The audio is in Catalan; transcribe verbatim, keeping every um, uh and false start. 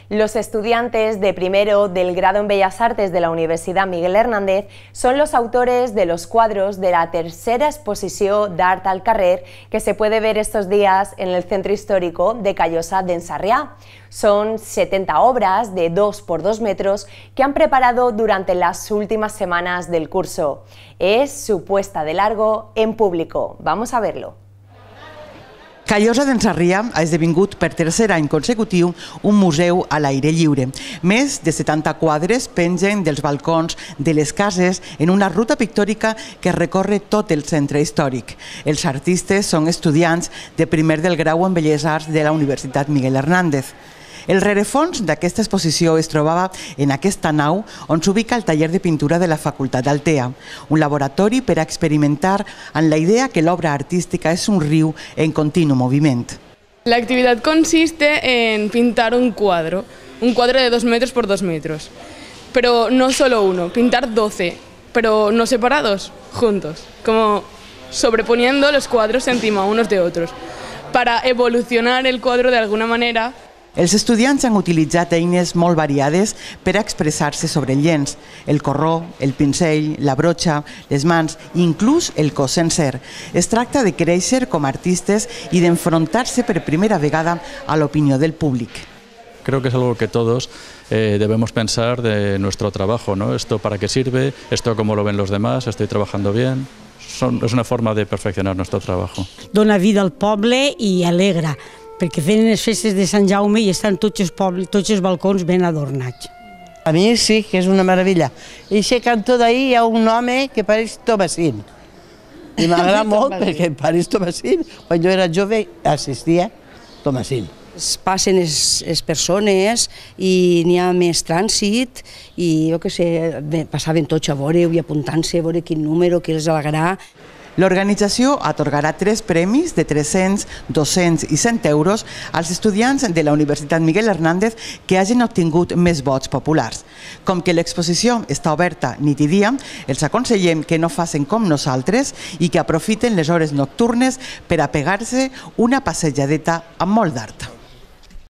Los estudiantes de primero del grado en Bellas Artes de la Universidad Miguel Hernández son los autores de los cuadros de la tercera exposición d'Art al Carrer que se puede ver estos días en el Centro Histórico de Callosa d'en Sarrià. Son setenta obras de dos por dos metros que han preparado durante las últimas semanas del curso. Es su puesta de largo en público. Vamos a verlo. Callosa d'en Sarrià ha esdevingut per tercer any consecutiu un museu a l'aire lliure. Més de setanta quadres pengen dels balcons de les cases en una ruta pictòrica que recorre tot el centre històric. Els artistes són estudiants de primer del grau en Belles Arts de la Universitat Miguel Hernández. El rerefons d'aquesta exposició es trobava en aquesta nau on s'ubica el taller de pintura de la Facultat d'Altea, un laboratori per a experimentar amb la idea que l'obra artística és un riu en continu moviment. La actividad consiste en pintar un cuadro, un cuadro de dos metros por dos metros, pero no solo uno, pintar doce, pero no separados, juntos, como sobreponiendo los cuadros encima unos de otros, para evolucionar el cuadro de alguna manera. Els estudiants han utilitzat eines molt variades per a expressar-se sobre el llenç, el corró, el pincell, la brocha, les mans i inclús el cos sencer. Es tracta de créixer com a artistes i d'enfrontar-se per primera vegada a l'opinió del públic. Creo que es algo que todos eh, debemos pensar de nuestro trabajo, ¿no? Esto para qué sirve, esto cómo lo ven los demás, estoy trabajando bien. Son, es una forma de perfeccionar nuestro trabajo. Dona vida al poble i alegra, perquè fenen les festes de Sant Jaume i estan tots els, pobles, tots els balcons ben adornats. A mi sí, que és una meravella. I aquest cantó d'ahir hi ha un home que pareix Tomasín. I m'agrada molt perquè pareix Tomasín. Quan jo era jove assistia a Tomasín. Es passen les, les persones i n'hi ha més trànsit i jo què sé, passaven tots a veure i apuntant-se a veure quin número, qui els alegrarà. L'organització atorgarà tres premis de tres-cents, dos-cents i cent euros als estudiants de la Universitat Miguel Hernández que hagin obtingut més vots populars. Com que l'exposició està oberta nit i dia, els aconsellem que no facin com nosaltres i que aprofiten les hores nocturnes per a pegar-se una passejadeta amb molt d'art.